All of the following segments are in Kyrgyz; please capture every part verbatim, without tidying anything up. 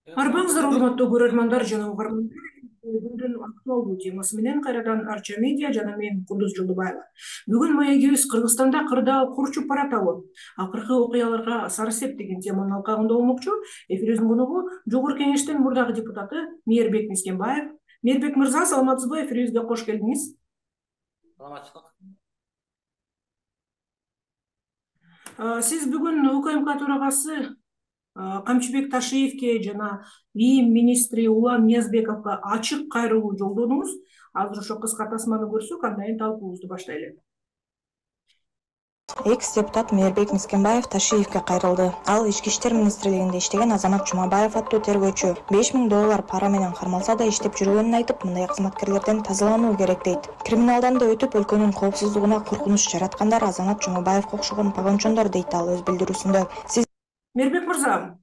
Арбаңыздар, урматтуу көрөрмандар жана угармандар. Бүгүндүн актуалдуу темасы менен кайрадан Арча медиа жана мен Кундуз Жолдубаева. Бүгүн маегибиз Кыргызстанда кырдаал курчуп баратабы? Акыркы окуяларга Сары сеп деген теманын алкагында болмокчу. Эфирибиздин коногу Жогорку Кеңештин мурдагы депутаты Мээрбек Мискенбаев. Мээрбек мырза, саламатсызбы? Эфирибизге кош келдиңиз. Саламатчылык. Сиз бүгүн УКМК төрагасы Камчыбек Ташиевке жана ИИМ министри Улан Ниязбековго ачык кайрылуу жолдодуңуз. Азыр ошо кыска тасманы көрсөк, андан кийин талкуубузду баштайлы. Экс-депутат Мээрбек Мискенбаев Ташиевке кайрылды. Ал Ички иштер министрлигинде иштеген Азамат Жумабаев аттуу тергөөчү беш миң доллар пара менен кармалса да иштеп жүргөнүн айтып, мындай кызматкерлерден тазалануу керек дейт. Криминалдан да өтүп, өлкөнүн коопсуздугуна коркунуч жараткандар Азамат Жумабаевге окшогон погончондор дейт ал өз билдирүүсүндө. Сиз Мээрбек мырза,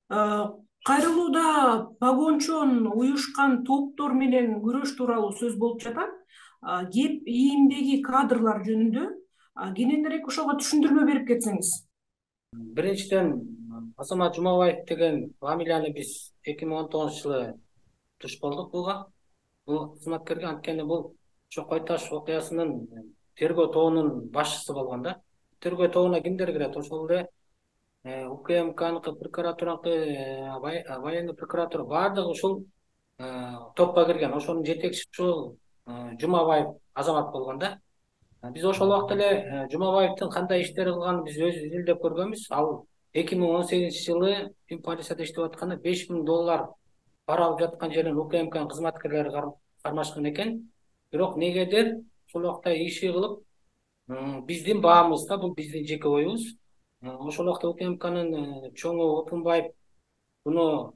кайрылууда погончон уюшкан топтор менен күрөш тууралуу сөз болуп жатат. Кеп ИИМдеги кадрлар жөнүндө кененирээк ошого түшүндүрмө берип кетсеңиз. Биринчиден, Азамат Жумабаев деген фамилияны биз эки миң он тогузунчу жылы туш болдук буга. Бул кызматкерге, анткени бул ошо Кой Таш окуясынын тергөө тобунун башчысы болгон да. Тергөө тобуна кимдер кирет? Ошол эле УКМКныкы, прокуратураныкы, военный прокуратура баардыгы ушул топко кирген. Ошонун жетекчиси ушул Жумабаев Азамат болгон да. Биз ошол убакта эле Жумабаевдин кандай иштер кылганын биз өзүбүз изилдеп көргөнбүз. Ал эки миң он сегизинчи жылы Фин полицияда иштеп атканда беш миң доллар пара алып жаткан жерин УКМКнын кызматкерлери кармашкан экен. Бирок негедир ошол убакта иши кылып, биздин баамызда, бул биздин жеке оюбуз. Ошол убакта УКМКнын чоңу Опунбаев буну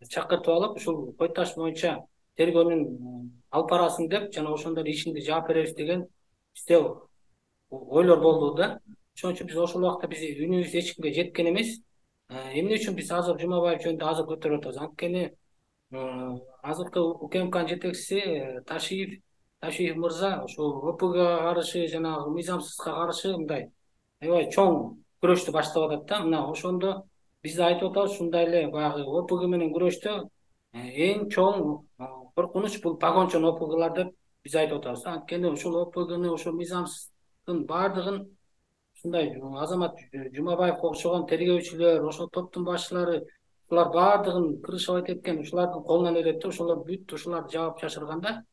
чакыртып алып, ушул Кой Таш боюнча тергөөнүн алып барасың деп, жана ошондор ишинде жаап беребиз деген бизде ойлор болду да. Ошон үчүн биз ошол убакта биз үнүбүз эч кимге жеткен эмес. Эмне үчүн биз азыр Жумабаев жөнүндө азыр көтөрүп атабыз? Анткени азыркы УКМКнын жетекчиси Ташиев Ташиев мырза ошол ОПГга каршы, жанагы мыйзамсызга каршы мындай аябай чоң күрөштү баштап атат да. Мына ошондо биз айтып атабыз, ушундай эле баягы ОПГ менен күрөштө эң чоң коркунуч бул погончон ОПГлар деп биз айтып атабыз. Анткени ушул ОПГны, ошол мыйзамсыздын баардыгын ушундай Азамат Жумабаевге окшогон тергөөчүлөр, ошол топтун башчылары, булар баардыгын крышевать эткен, ушулардын колунан өтөт да. Ошолор бүт ушулар жаап жашырганда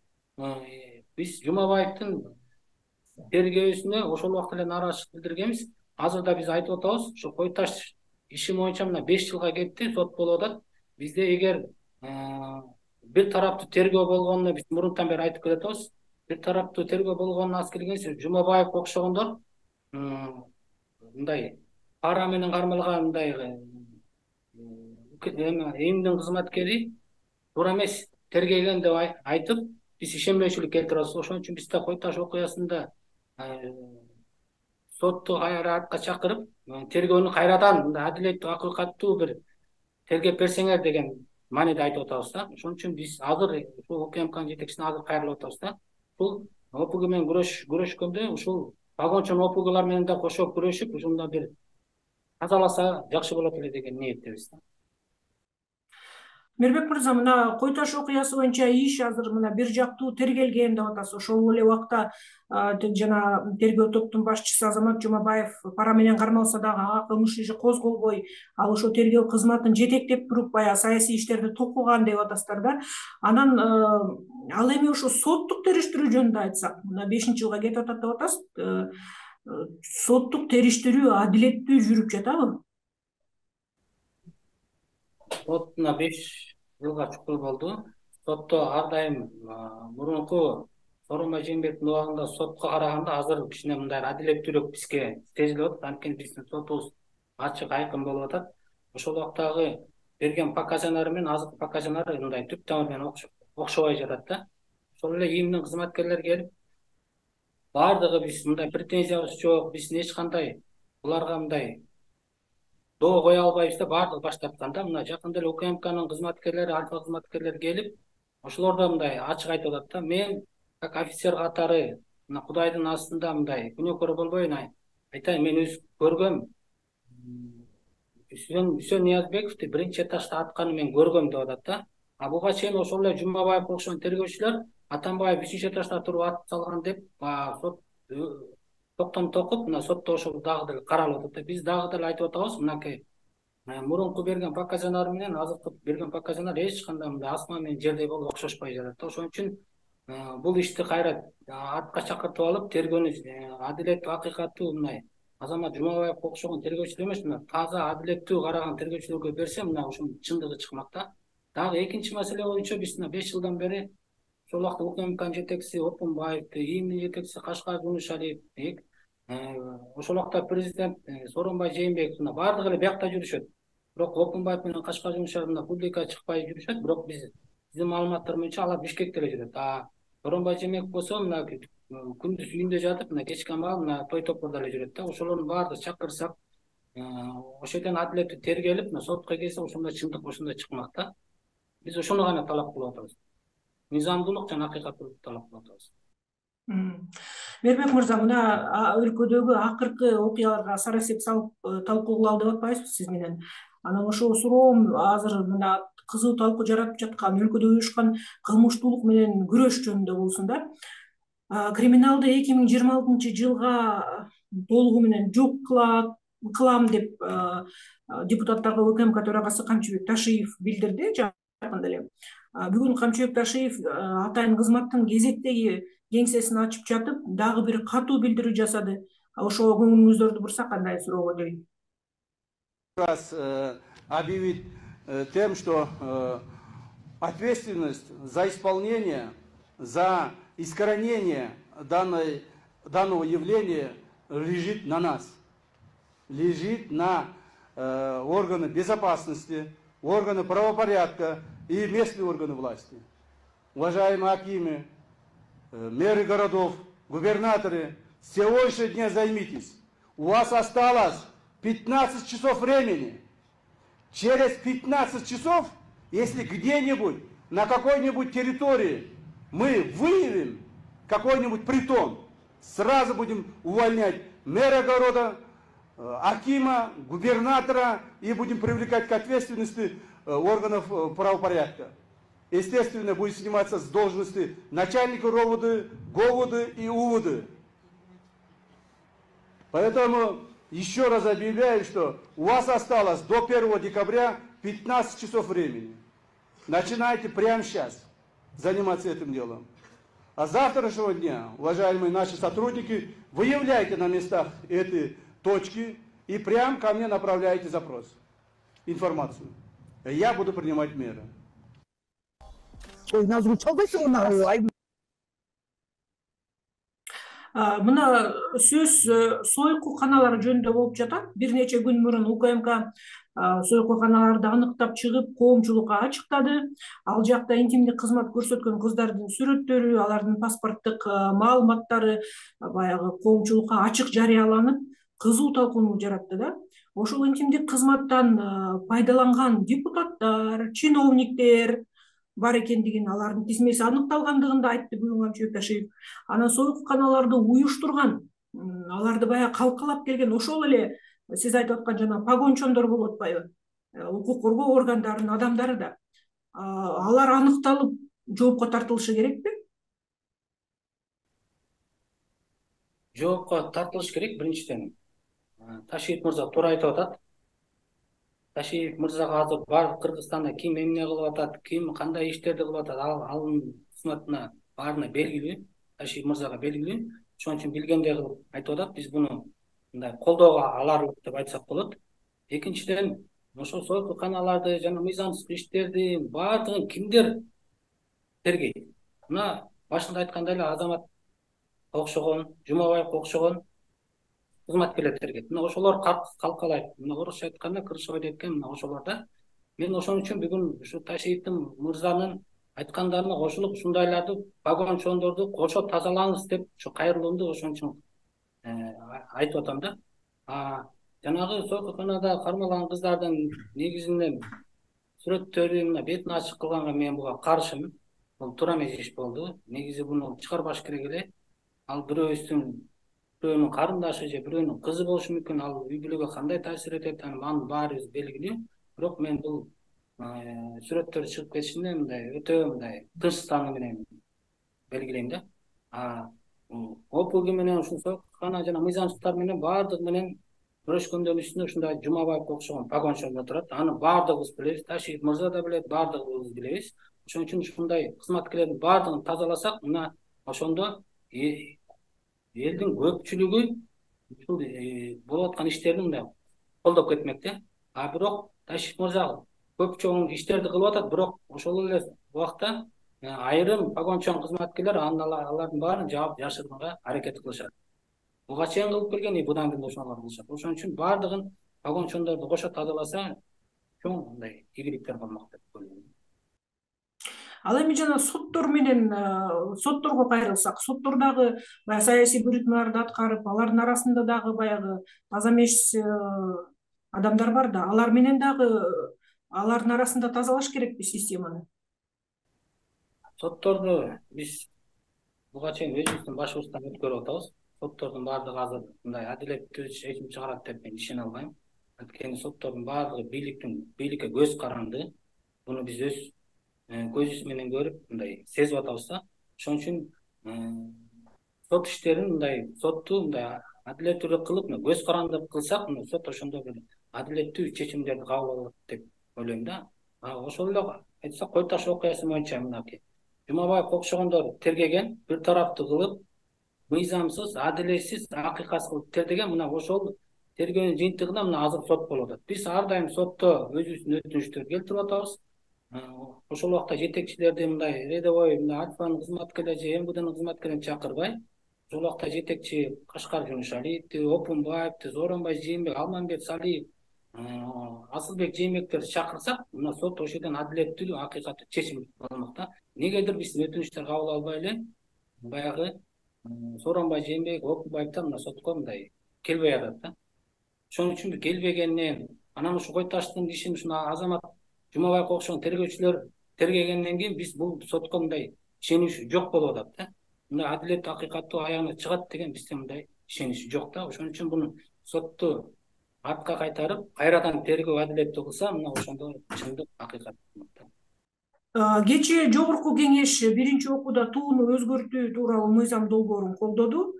биз Жумабаевдин тергөөсүнө ошол убакта эле нааразычылык билдиргенбиз. Азыр да биз айтып атабыз, ошо Кой Таш иши боюнча мына беш жылга кетти, сот болуп атат. Бизде эгер бир тараптуу тергөө болгонуна биз мурунтан бери айтып келатабыз. Бир тараптуу тергөө болгонуна аз келгенде Жумабаевге окшогондор мындай пара менен кармалган мындай ИИМдин кызматкери туура эмес тергеген деп айтып, биз ишенбөөчүлүк келтирип. Ошон үчүн биз да Кой Таш окуясында сотту кайра артка чакырып, тергөөнү кайрадан мындай адилеттүү, акыйкаттуу бир тергеп берсеңер деген мааниде айтып атабыз да. Ошон үчүн биз азыр ушул УКМКнын жетекчисине азыр кайрылып атабыз да. Бул ОПГ менен күрөш күрөшкөндө ушул погончон ОПГлар менен да кошо күрөшүп, ушунда бир тазаласа жакшы болот эле деген ниеттебиз да. Мээрбек мырза, мына Кой Таш окуясы боюнча иш азыр мына бир жактуу тергелген деп атасыз. Ошол эле убакта жана тергөө топтун башчысы Азамат Жумабаев пара менен кармалса дагы ага кылмыш иши козголбой, ал ошо тергөө кызматын жетектеп туруп баягы саясий иштерди токуган деп атасыздар да. Анан ал эми ошо соттук териштирүү жөнүндө айтсак, мына бешинчи жылга кетип атат деп атасыз. Соттук териштирүү адилеттүү жүрүп жатабы? Сот мына беш жылга чукул болду. Сотто ар дайым мурунку Сооронбай Жээнбековдун убагында сотко караганда азыр кичине мындай адилеттүүрөөк бизге сезилип атат. Анткени биздин сотубуз ачык, айкын болуп атат. Ошол убактагы берген показаниялары менен азыркы показаниялар мындай түп тамыры менен окшобой жатат да. Ошол эле ИИМдин кызматкерлери келип, баардыгы биз мындай претензиябыз жок, биздин эч кандай буларга мындай доо кое албайбыз да, баардыгы баш тарткан да. Мына жакында эле УКМКнын кызматкерлери, альфа кызматкерлери келип, ошолор да мындай ачык айтып атат да. Мен как офицер катары мына Кудайдын астында мындай күнөөкөр болбойюн, айтайын, мен өз көргөм Үсен Үсен Ниязбековди биринчи этажда атканын мен көргөм деп атат да. А буга чейин ошол эле Жумабаевге окшогон тергөөчүлөр Атамбаев үчүнчү этажда туруп ат салган деп сот токтом токуп, мына сотто ошол дагы деле каралып атат. Биз дагы деле айтып атабыз, мынакей мурунку берген показаниялар менен азыркы берген показаниялар эч кандай мындай асман менен жердей болуп окшошпой жатат. Ошон үчүн бул ишти кайра артка чакыртып алып, тергөөнү адилеттүү, акыйкаттуу мындай Азамат Жумабаевге окшогон тергөөчүлөр эмес, мына таза адилеттүү караган тергөөчүлөргө берсе, мына ушунун чындыгы чыкмак да. Дагы экинчи маселе боюнча биз мына беш жылдан бери ошол убакта УКМКнын жетекчиси Опунбаевди, ИИМдин жетекчиси Кашкар Жунушалиев, ошол убакта президент Сооронбай Жээнбеков мына баардыгы эле биякта жүрүшөт. Бирок Опунбаев менен Кашкар Жунушалиев мына публикага чыкпай жүрүшөт, бирок биз биздин маалыматтар боюнча алар Бишкекте эле жүрөт. А Сооронбай Жээнбеков болсо мына күндүз үйүндө жатып, мына кечки маал мына той топордо эле жүрөт да. Ошолордун баардыгы чакырсак, ошол жерден адилеттүү тергелип, мына сотко келсе ошондой чындык ошондой чыкмак да. Биз ошону гана талап кылып атабыз. Мыйзамдуулук жана акыйкаттуулукту талап кылып атабыз. Мээрбек мырза, мына өлкөдөгү акыркы окуяларга сара эсеп салып талкуу кылалы деп атпайсызбы сиз менен? Анан ошол суроом азыр мына кызуу талкуу жаратып жаткан өлкөдө уюшкан кылмыштуулук менен күрөш жөнүндө болсун да. Криминалды эки миң жыйырма алтынчы жылга толугу менен жок кылам деп депутаттарга УКМК төрагасы Камчыбек Ташиев билдирди жакында эле. Бүгүн Камчыбек Ташиев атайын кызматтын кезектеги кеңсесин ачып жатып, дагы бир катуу билдирүү жасады. Ошого көңүлүңүздөрдү бурса кандай суроого дейм. Раз объявить тем, что ответственность за исполнение, за искоренение данной, данного явления лежит на нас, лежит на э, органы безопасности, органы правопорядка и местные органы власти. Уважаемые акимы, э, мэры городов, губернаторы, с сегодняшнего дня займитесь. У вас осталось пятнадцать часов времени. Через пятнадцать часов, если где-нибудь на какой-нибудь территории мы выявим какой-нибудь притон, сразу будем увольнять мэра города, акима, губернатора и будем привлекать к ответственности органов правопорядка. Естественно, будет сниматься с должности начальника РОВД, ГОВД и УВД. Поэтому еще раз объявляю, что у вас осталось до первого декабря пятнадцать часов времени. Начинайте прямо сейчас заниматься этим делом. А с завтрашнего дня, уважаемые наши сотрудники, выявляйте на местах эти точки и прямо ко мне направляйте запрос, информацию. Я буду принимать меры. Мына сөз сойку каналары жөнүндө болуп жатат. Бир нече күн мурун УКМК сойку каналарды аныктап чыгып, коомчулукка ачыктады. Ал жакта интимдик кызмат көрсөткөн кыздардын сүрөттөрү, алардын паспорттук маалыматтары баягы коомчулукка ачык жарыяланып, кызуу талкууну жаратты да. Ошол интимдик кызматтан пайдаланган депутаттар, чиновниктер бар экендигин, алардын тизмеси аныкталгандыгын да айтты бүгүн Камчыбек Ташиев. Анан сойку каналарды уюштурган, аларды баягы калкалап келген ошол эле сиз айтып аткан жана погончондор болуп атпайбы? Укук коргоо органдарынын адамдары да. Алар аныкталып жоопко тартылышы керекпи? Жоопко тартылыш керек биринчиден. Ташиев мырза туура айтып атат. Ташиев мырзага азыр бар Кыргызстанда ким эмне кылып атат, ким кандай иштерди кылып атат, анын кызматына баарына белгилүү, Ташиев мырзага белгилүү. Ошон үчүн билгендей кылып айтып атат. Биз буну мындай колдоого аларлык деп айтсак болот. Экинчиден, ошол сойку каналарды жана мыйзамсыз иштерди баардыгын кимдер тергейт? Мына башында айткандай эле Азамат окшогон, Жумабаевге окшогон кызматкерлер тергейт. Мына ошолор калкалайт. Мына орусча айтканда крышевой эткен мына ошолор да. Мен ошон үчүн бүгүн ушу Ташиевдин мырзанын айткандарына кошулуп, ушундайларды, погончондорду кошо тазалаңыз деп ушу кайрылуумду ошон үчүн айтып атам да. А жанагы сойкуканада кармалган кыздардын негизинен сүрөттөрү мына бетин ачык кылганга мен буга каршымын. Бул туура эмес иш болду. Негизи буну чыгарбаш керек эле. Ал бирөөбүздүн бирөөнүн карындашы же бирөөнүн кызы болушу мүмкүн. Ал үй бүлөгө кандай таасир этет, анын баарыбыз белгилүү. Бирок мен бул сүрөттөр чыгып кетишинде мындай өтө мындай тынчтану менен белгилейм да. А опуги менен ушул соккана жана мыйзамчылыктар менен баардыгы менен күрөшкөндөн үстүнө ушундай Жумабаевге окшогон погончондор турат. Аны баардыгыбыз билебиз, Ташиев мырза да билет, баардыгыбыз билебиз. Ошон үчүн ушундай кызматкерлердин баардыгын тазаласак, мына ошондо элдин көпчүлүгү ушул болуп аткан иштерди мындай колдоп кетмек да. А бирок Ташиев мырза көп чоң иштерди кылып атат, бирок ошол эле убакта айрым погончон кызматкерлер алардын баарын жаап жашырганга аракет кылышат. Буга чейин кылып келген и будан кийин ошону кылышат. Ошон үчүн баардыгын погончондорду кошо тазаласа чоң мындай ийгиликтер болмок деп ойлойм. Ал эми жана соттор менен сотторго кайрылсак, соттор дагы баягы саясий буйрутмаларды аткарып, алардын арасында дагы баягы таза эмес адамдар бар да. Алар менен дагы алардын арасында тазалаш керекпи системаны? Сотторду биз буга чейин өзүбүздүн башыбыздан өткөрүп атабыз. Соттордун баардыгы азыр мындай адилеттүү чечим чыгарат деп мен ишене албайм. Анткени соттордун баардыгы бийликтин бийликке көз каранды. Буну биз өз көзүбүз менен көрүп мындай сезип атабыз да. Ошон үчүн сот иштерин мындай сотту мындай адилеттүү кылып, көз каранды кылсак, сот ошондо бир адилеттүү чечимдерди кабыл алат деп ойлойм да. Ошол эле айтсак, Кой Таш окуясы боюнча мынакей Жумабаевге окшогондор тергеген, бир тараптуу кылып, мыйзамсыз, адилетсиз, акыйкатсыз кылып тергеген. Мына ошол тергөөнүн жыйынтыгында мына азыр сот болуп атат. Биз ар дайым сотто өзүбүздүн өтүнүчтөрдү келтирип атабыз. Ошол убакта жетекчилерди мындай рядовой Альфанын кызматкерлери же эм вэ дэнин кызматкерлерин чакырбай, ошол убакта жетекчи Кашкар Жумушалиевди, Опунбаевди, Зооронбай Жээнбек, Алмамбет Салиев, Асылбек Жээнбектерди чакырсак, мына сот ошол жерден адилеттүү, акыйкаттуу чечим болмок да. Негедир биз өтүнүчтөр кабыл албай эле баягы Сооронбай Жээнбек, Опунбаевдер мына сотко мындай келбей атат да. Ошон үчүн келбегенинен анан ушу Кой Таштын ишин ушуну Азамат Жумабаевге окшогон тергөөчүлөр тергегенден кийин биз бул сотко мындай ишенич жок болуп атат да. Мындай адилеттүү, акыйкаттуу аягына чыгат деген бизде мындай ишенич жок да. Ошон үчүн буну сотту артка кайтарып, кайрадан тергөө адилеттүү кылса, мына ошондо чындык, акыйкат болмок да. Кечээ Жогорку Кеңеш биринчи окууда тууну өзгөртүү тууралуу мыйзам долбоорун колдоду.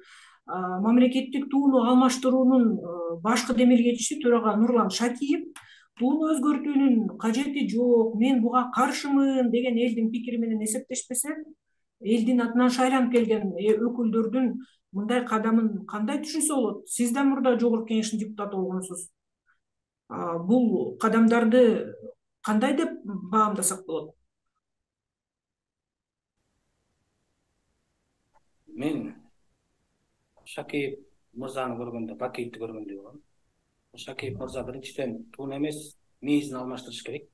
Мамлекеттик тууну алмаштыруунун башкы демилгечиси төрага Нурлан Шакиев тууну өзгөртүүнүн кажети жок, мен буга каршымын деген элдин пикири менен эсептешпесе, элдин атынан шайланып келген өкүлдөрдүн мындай кадамын кандай түшүнсө болот? Сиз да мурда Жогорку Кеңештин депутаты болгонсуз. Бул кадамдарды кандай деп баамдасак болот? Мен Шакиев мырзаны көргөндө, Бакиевди көргөндөй болом. Шакиев мырза биринчиден тууну эмес, мээзин алмаштырыш керек.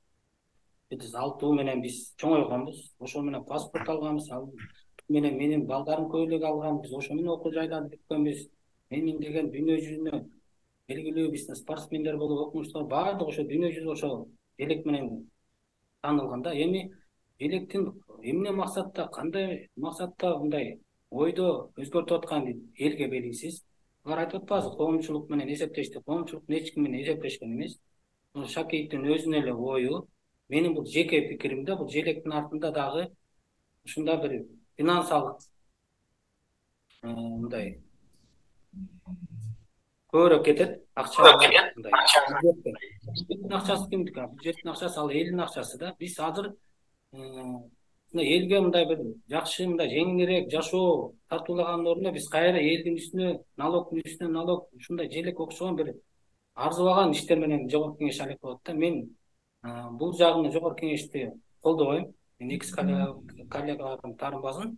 Биз ал туу менен биз чоңойгонбуз, ошол менен паспорт алганбыз, ал менен менин балдарым көйлөк алган, биз ошо менен окуу жайларды бүткөнбүз. Менин деген дүйнө жүзүнө белгилүү биздин спортсмендер болуп окумуштар баардыгы ошо дүйнө жүзү ошол желек менен таанылган да. Эми желектин эмне максатта, кандай максатта мындай ойдо өзгөртүп атканы элге белгисиз. Алар айтып атпайбызбы, коомчулук менен эсептешти. Коомчулук эч ким менен эсептешкен эмес. Шакиевдин өзүнүн эле ою, менин бул жеке пикиримде, бул желектин артында дагы ушундай бир финансалык мындай көбүрөөк кетет, акча мындай. Бюджеттин акчасы кимдики? Бюджеттин акчасы ал элдин акчасы да. Биз азыр элге мындай бир жакшы, мындай жеңилирээк жашоо тартуулагандын ордуна биз кайра элдин үстүнө налогдун үстүнө налог, ушундай желек окшогон бир арзыбаган иштер менен Жогорку Кеңеш алек болот да. Мен бул жагын Жогорку Кеңешти колдобойм. Мен экс коллегалардын таарынбасын.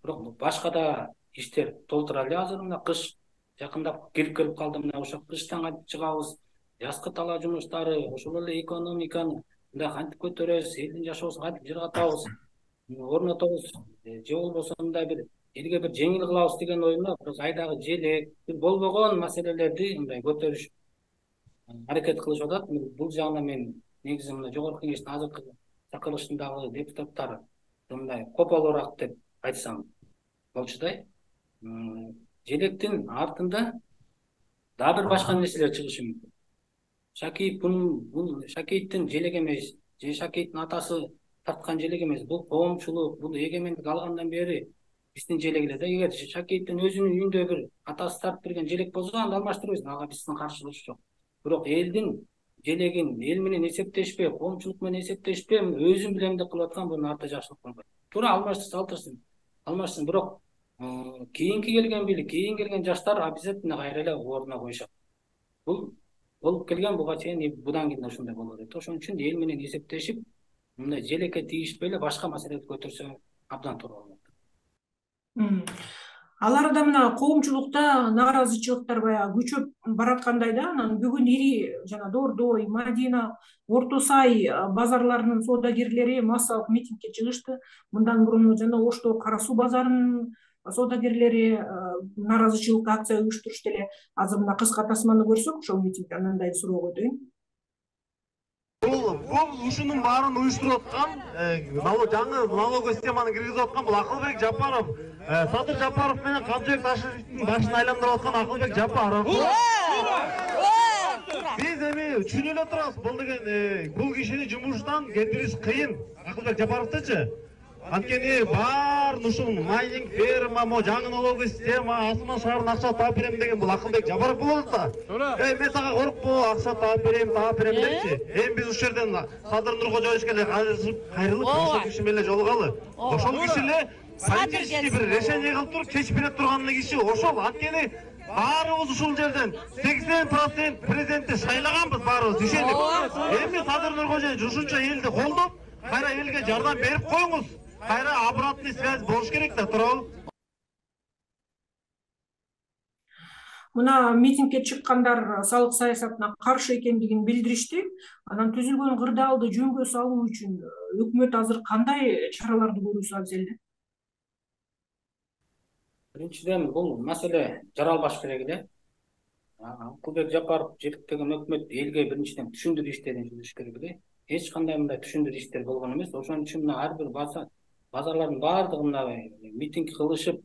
Бирок башка да иштер толтура эле азыр мына кыш жакындап кирип келип калды. Мына ошо кыштан кантип чыгабыз, жазкы талаа жумуштары, ошол эле экономиканы мындай кантип көтөрөбүз, элдин жашоосун кантип жыргатабыз, орнотобуз, же болбосо мындай бир элге бир жеңил кылабыз деген оюмда бир айдагы желек, болбогон маселелерди мындай көтөрүш аракет кылышып атат. Бул жагына мен негизи мына Жогорку Кеңештин азыркы чакырылышындагы депутаттар мындай кополуураак деп айтсам болчудай. желектин артында дагы бир башка нерселер чыгышы мүмкүн. Шакиев бул Шакиевдин желеги эмес, же Шакиевдин атасы тарткан желеги эмес. Бул коомчулук, бул эгемендик алгандан бери биздин желек эле да. Эгер Шакиевдин өзүнүн үйүндө бир атасы тартып берген желек болсо, анда алмаштырбайсың, ага биздин каршылыгыбыз жок. Бирок элдин желегин эл менен эсептешпей, коомчулук менен эсептешпей, өзүм билем деп кылып аткан бул нарта жакшылык болбойт. Туура алмаштырса алдырсын, алмашсын. Бирок кийинки келген бийлик, кийин келген жаштар обязательно кайра эле ордуна коюшат. Бул болуп келген, буга чейин будан кийин ушундай боло берет. Ошон үчүн эл менен эсептешип, мындай желекке тийишпей эле башка маселелерди көтөрсө абдан туура болот. Ал арада мына коомчулукта нааразычылыктар баягы күчөп бараткандай да. Анан бүгүн ири жана Дордой, Мадина, Орто Сай базарларынын соодагерлери массалык митингге чыгышты. Мындан мурун жана Ошто Кара Суу базарынын соодагерлери нааразычылык акция уюштурушты эле. Азыр мына кыска тасманы көрсөк, ошол митингде анандай суроо койдуйм. Бул бул ушунун баарын уюштуруп аткан, жаңы налоговый системаны киргизип аткан бул Акылбек Жапаров, Садыр Жапаров менен Камчыбек Ташиевдин башын айландырып аткан Акылбек Жапаров. Биз эми түшүнүп эле турабыз, бул деген бул кишини жумуштан кетириш кыйын. Акылбек Жапаровдучу анткени баарын ушул майнинг ферма, мо жаңы налоговый система, Асман шаарынын акча таап берем деген бул Акылбек Жапаров болот да. Эй, мен сага коркпо, акча таап берем, таап берем депчи. Эми биз ушул жерден Садыр Нуркожоевичке эле кайрылып, ошол киши менен жолугалы. Ошол киши эле политический бир решение кылып туруп чечип бере турган киши ошол. Анткени баарыбыз ушул жерден сексен процент президентти шайлаганбыз баарыбыз ишенип. Эми Садыр Нуркожоевич ушунча элди колдоп, кайра элге жардам берип коюңуз. Кайра обратный связь болуш керек да, туурабы? Мына митингге чыккандар салык саясатына каршы экендигин билдиришти. Анан түзүлгөн кырдаалды жөнгө салуу үчүн өкмөт азыр кандай чараларды көрүүсү абзел? Биринчиден, бул маселе жаралбаш керек эле. Акылбек Жапаров жетектеген өкмөт элге биринчиден түшүндүрүү иштерин жүргүзүш керек эле. Эч кандай мындай түшүндүрүү иштер болгон эмес. Ошон үчүн мына ар бир базар базарлардын баардыгы мына митинг кылышып,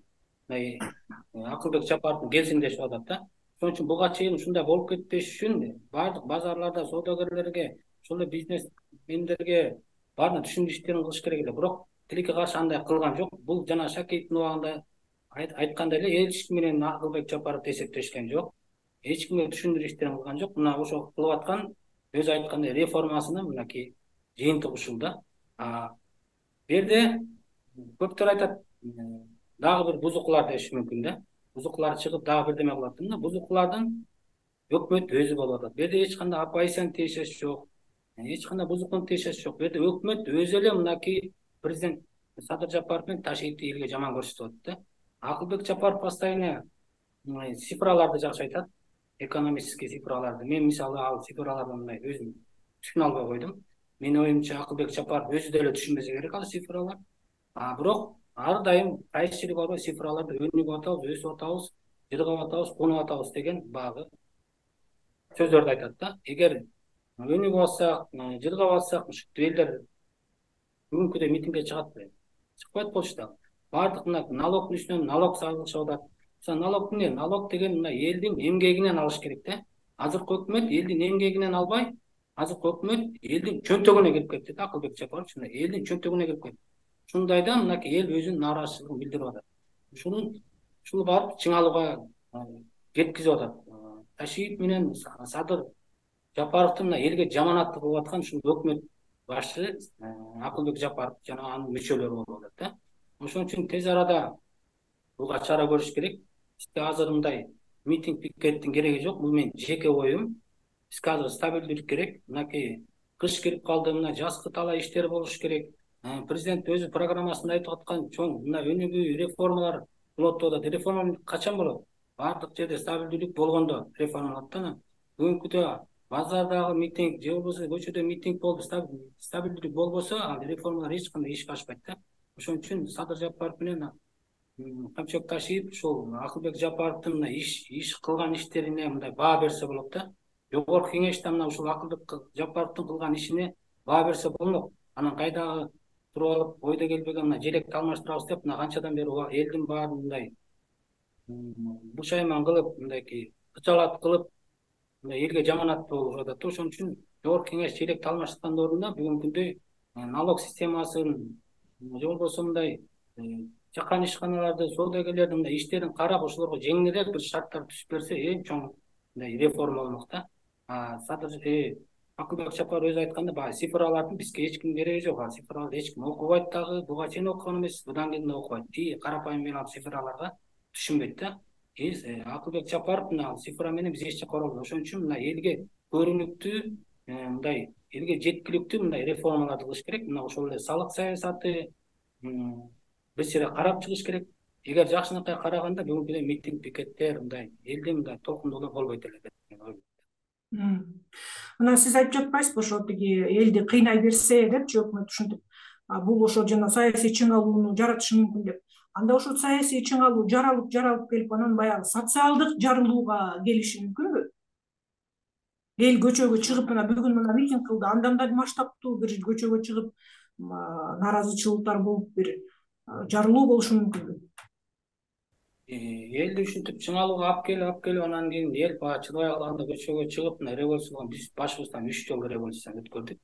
Акылбек Жапаровдун келсиңдешип атат да. Ошон үчүн буга чейин ушундай болуп кетпеш үчүн баардык базарларда соодагерлерге, ошол эле бизнесмендерге баарына түшүндүрүү иштерин кылыш керек эле. Бирок тилекке каршы андай кылган жок. Бул жана Шакиевдин убагында айткандай эле эч ким менен Акылбек Жапаров эсептешкен жок. Эч кимге түшүндүрүү иштерин кылган жок. Мына ошол кылып аткан өзү айткандай реформасынын мынакей жыйынтыгы ушул да. Бу жерде көптөр айтат, дагы бир бузукулар деши мүмкүн да. Бузукулар чыгып дагы бирдеме кылат. Мына бузукулардын өкмөт өзү болуп атат. Бу жерде эч кандай оппозицияны тиешеси жок. Эч кандай бузукуну тиешеси жок. Бу жерде өкмөт өзү эле мынакей президент Садыр Жапаров менен Ташиевди элге жаман көрсөтүп атат да. Акылбек Жапаров постоянно цифраларды жакшы айтат. Экономический цифраларды. Мен мисалы ал цифраларды мындай өзүм түшүнө албай койдум. Менин оюмча Акылбек Жапаров өзү деле түшүнбөсө керек ал цифралар. А бирок ар дайым кайчылык бар, цифраларды өнүгүп атабыз, өсүп атабыз, жыргап атабыз, кунуп атабыз деген багы сөздөрдү айтат да. Эгер өнүгүп атсак, жыргап атсак, ушул элдер бүгүнкүдөй митингге чыгат беле? Чыкпайт болчу да. Баардык мына налогдун үстүнөн налог салышып атат. Налог эмне? Налог деген мына элдин эмгегинен алыш керек да. Азыркы өкмөт элдин эмгегинен албай, азыркы өкмөт элдин чөнтөгүнө кирип кетти да. Акылбек Жапаров ушундай элдин чөнтөгүнө кирип кетти. Ушундайда мынакей эл өзүнүн нааразычылыгын билдирип атат. Ушунун ушул барып чыңалууга жеткизип атат. Ташиев менен Садыр Жапаровдун мына элге жаманаттык кылып аткан ушул өкмөт башчы Акылбек Жапаров жана анын мүчөлөрү болуп атат да. Ошон үчүн тез арада буга чара көрүш керек. Бизде азыр мындай митинг пикеттин кереги жок. Бул менин жеке оюм. Бизге азыр стабилдүүлүк керек. Мынакей кыш кирип калды, мына жазгы талай иштер болуш керек. Президент өзү программасында айтып аткан чоң мына өнүгүү реформалар болот деп атат. Реформа качан болот? Баардык жерде стабилдүүлүк болгондо реформа болот да. Бүгүнкүдө базардагы митинг же болбосо көчөдө митинг болуп стабилдүүлүк болбосо, ал реформалар эч кандай ишке ашпайт да. Ошон үчүн Садыр Жапаров менен Камчыбек Ташиев ушул Акылбек Жапаровдун иш иш кылган иштерине мындай баа берсе болот да. Жогорку кеңеште мына ушул Акылбек Жапаровдун кылган ишине баа берсе болмок. Анан кайдагы туруп алып ойдо келбеген мына желекти алмаштырабыз деп мына канчадан бери элдин баарын мындай бушайман кылып, мындайки кычалат кылып, элге жаманат болуп жатат. Ошон үчүн жогорку кеңеш чейректи алмаштыргандын ордуна бүгүнкү күндө налог системасын же болбосо мындай жакан ишканаларды, соодагерлердин мындай иштерин карап, ошолорго жеңилирээк бир шарттар түзүп берсе, эң чоң мындай реформа болмок да. Акылбек Жапаров өзү айтканда, баягы цифралардын бизге эч ким кереги жок. А цифраларды эч ким окубайт дагы, буга чейин окуган эмес, будан кийин да окубайт. И карапайым мен цифраларга түшүнбөйт да. Акылбек Жапаров мына цифра менен биз эч жакка барбайбыз. Ошон үчүн мына элге көрүнүктүү, мындай элге жеткиликтүү мындай реформаларды кылыш керек. Мына ошол эле салык саясаты бир сире карап чыгыш керек. Эгер жакшынакай караганда бүгүнкү митинг, пикеттер, мындай элди мындай толкундуулар болбойт эле деп мен ойлойм. Мына сиз айтып жатпайсызбы, ошо тиги элди кыйнай берсе депчи өкмөт ушинтип, бул ошо жана саясий чың алууну жаратышы мүмкүн деп. Анда ошо саясий чың алуу жаралып жаралып келип анан баягы социалдык жарылууга келиши мүмкүнбү? Эл көчөгө чыгып, мына бүгүн мына митинг кылды, андан да масштабтуу бир көчөгө чыгып нааразычылыктар болуп бир жарылуу болушу мүмкүнбү? Элди ушинтип чың алууга алып келип, алып келип анан кийин эл баягы чыдабай калганда көчөгө чыгып, мына революцияга биз башыбыздан үч жолу революцияны өткөрдүк.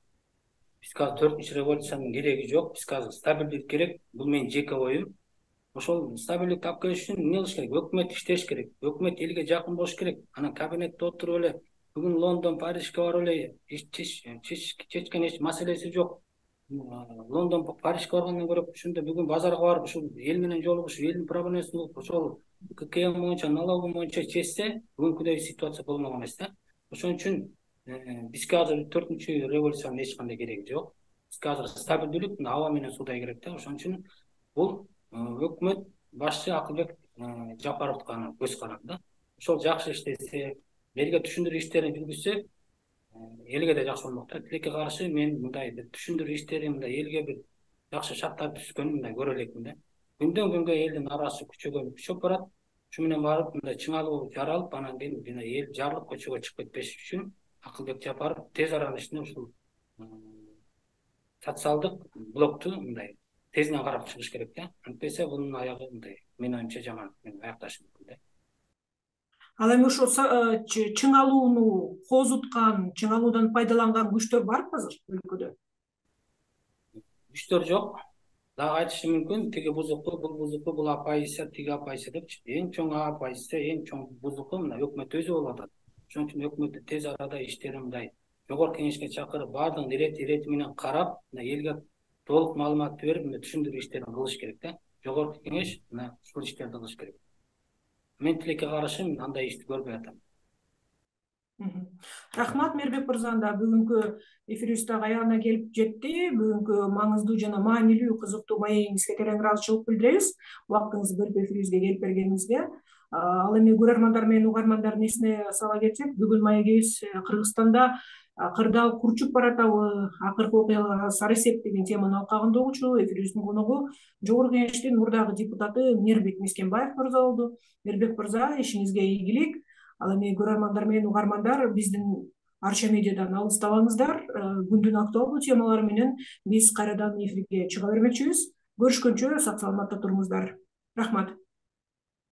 Бизге азыр төртүнчү революциянын кереги жок. Бизге азыр стабилдик керек. Бул менин жеке оюм. Ошол стабилдикти алып келиш үчүн эмне кылыш керек? Өкмөт иштеш керек. Өкмөт элге жакын болуш керек. Анан кабинетте отуруп эле бүгүн Лондон, Парижге барып эле чечкен эч маселеси жок. Лондон, Парижге баргандан көрө ушунда бүгүн базарга барып ушул эл менен жолугушуп, элдин проблемасын угуп, ошол ККМ боюнча, налогу боюнча чечсе, бүгүнкүдөй ситуация болмок эмес да. Ошон үчүн бизге азыр төртүнчү революциянын эч кандай кереги жок. Бизге азыр стабилдүүлүк, аба менен суудай керек да. Ошон үчүн бул өкмөт башчы Акылбек Жапаровдун көз каранды да. Ошол жакшы иштесе, элге түшүндүрүү иштерин жүргүзсө, элге да жакшы болмок да. Тилекке каршы мен мындай түшүндүрүү иштери, мындай элге бир жакшы шарттар түзгөнүн мындай көрө элекмин да. Күндөн күнгө элдин нараасы күчөгөн күчөп барат. Ушу менен барып мындай чың алуу жаралып, анан кийин жана эл жарылып көчөгө чыгып кетпеш үчүн Акылбек Жапаров тез арада ичинде ушул социалдык блокту мындай тезинен карап чыгыш керек да. Антпесе бунун аягы мындай менин оюмча жаман аякташы мүмкүн да. Ал эми ошо чың алууну козуткан, чың алуудан пайдаланган күчтөр барбы азыр өлкөдө? Күчтөр жок. Дагы айтышы мүмкүн, тиги бузукту, бул бузукту, бул апайысы, тиги апайысы депчи. Эң чоң апайысы, эң чоң бузуку мына өкмөт өзү болуп атат. Ошон үчүн өкмөттү тез арада иштерин мындай жогорку кеңешке чакырып, баардыгын ирети ирети менен карап, мына элге толук маалымат берип, мына түшүндүрүү иштерин кылыш керек да. Жогорку кеңеш мына ушул иштерди кылыш керек. Мен тилекке каршы андай ишти көрбөй атам. Рахмат Мээрбек мырза, бүгүнкү эфирибиз дагы аягына келип жетти. Бүгүнкү маңыздуу жана маанилүү, кызыктуу маегиңизге терең ыраазычылык билдиребиз. Убактыңызды бөлүп эфирибизге келип бергениңизге. Ал эми көрөрмандар менен угармандардын эсине сала кетсек, бүгүн маегибиз Кыргызстанда кырдаал курчуп баратабы, акыркы окуяларга сары эсеп деген теманын алкагында угучу. Эфирибиздин коногу жогорку кеңештин мурдагы депутаты Мээрбек Мискенбаев мырза болду. Мээрбек мырза, ишиңизге ийгилик. Ал эми көрөрмандар менен угармандар биздин Арча медиадан алыстабаңыздар. Күндүн актуалдуу темалары менен биз кайрадан эфирге чыга бермекчибиз. Көрүшкөнчө сак саламатта туруңуздар. Рахмат.